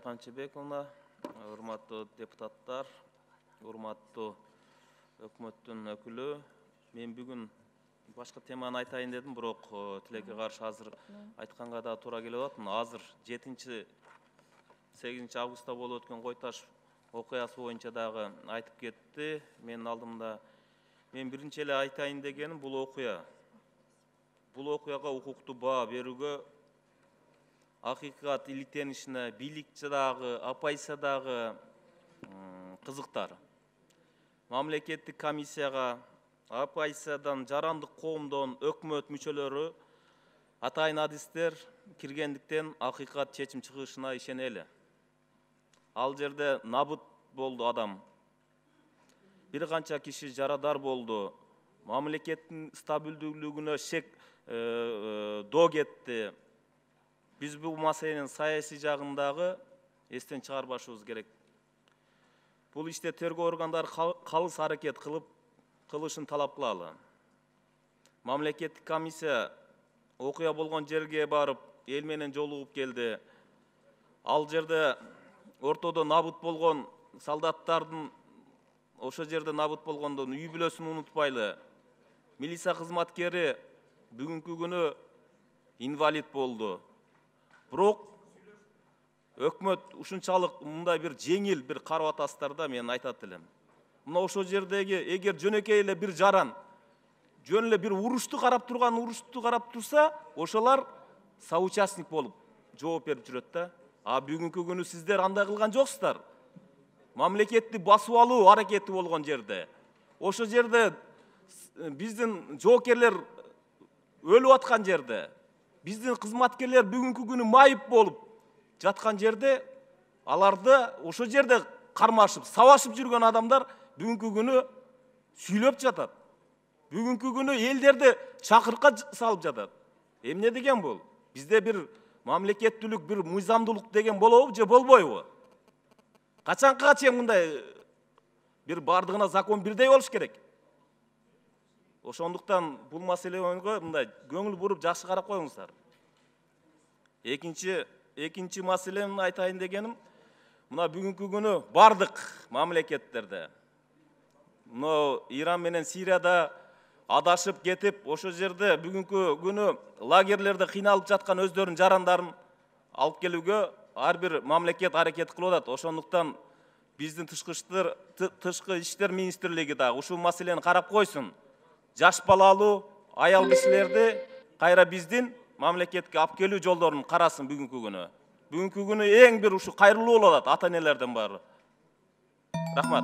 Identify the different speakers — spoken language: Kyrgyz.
Speaker 1: Канчыбековна, урматтуу депутаттар, урматтуу өкмөттүн өкүлү. Мен бүгүн башка теманы айтайын дедим, бирок тилекке каршы азыр айтканга да туура келип атат. Азыр 7-8 августта болуп өткөн Кой Таш окуясы боюнча дагы айтып кетти. Менин алдымда мен биринчи эле айтайын дегеним бул окуяга укуктуу баа берүүгө, акыйкат иликтенишине бийликчи дагы, апайса дагы кызыктар. Мамлекеттик комиссияга апайсадан, жарандык коомдон, өкмөт мүчөлөрү, атайын адистер киргендиктен акыйкат чечим чыгышына ишенели. Ал жерде набыт болду адам. Бир канча киши жарадар болду. Мамлекеттин стабилдүүлүгүнө шек доо кетти. Биз бул маселенин саясий жагындагы эстен чыгарбашыбыз керек. Бул иште тергөө органдары калыс аракет кылышын талап кылалы. Мамлекеттик комиссия окуя болгон жерге барып, эл менен жолугуп келди. Ал жерде ортодо набыт болгон солдаттардын, ошол жерде набыт болгондун үй бүлөсүн унутпайлы. Милиция кызматкери бүгүнкү күнү инвалид болду. Бирок өкмөт ушунчалык мындай бир жеңил бир карап атасыздар да, мен айтат элем. Мына ошол жердеги эгер жөнөкөй эле бир жаран, жөн эле бир урушту карап турса, ошолар соучастник болуп жооп берип жүрөт да. А бүгүнкү күнү сиздер андай кылган жоксуздар. Мамлекетти басып алуу аракети болгон жерде, ошол жерде биздин жоокерлер өлүп аткан жерде, биздин кызматкерлер бүгүнкү күнү майып болуп жаткан жерде, аларды ошол жерде кармашып, сабашып жүргөн адамдар бүгүнкү күнү сүйлөп жатат. Бүгүнкү күнү элдерди чакырыкка салып жатат. Эмне деген бул? Бизде бир мамлекеттүүлүк, бир мыйзамдуулук деген болобу же болбойбу? Качанга чейин мындай бир бардыгына закон бирдей болуш керек? Ошондуктан бул маселеге мындай көңүл буруп жакшы карап коюңуздар. Экинчи маселени айтайын дегеним, мына бүгүнкү күнү бардык мамлекеттерде, мына Иран менен Сирияда адашып кетип, ошол жерде бүгүнкү күнү лагерлерде кыйналып жаткан өздөрүнүн жарандарын алып келүүгө ар бир мамлекет аракет кылып атат. Ошондуктан биздин тышкы иштер министрлиги дагы ушул маселени карап койсун. Жаш балалуу аял кишилерди кайра биздин мамлекетке алып келүү жолдорун карасын бүгүнкү күнү. Бүгүнкү күнү эң бир ушу кайрылуу болуп атат ата энелерден баары. Рахмат.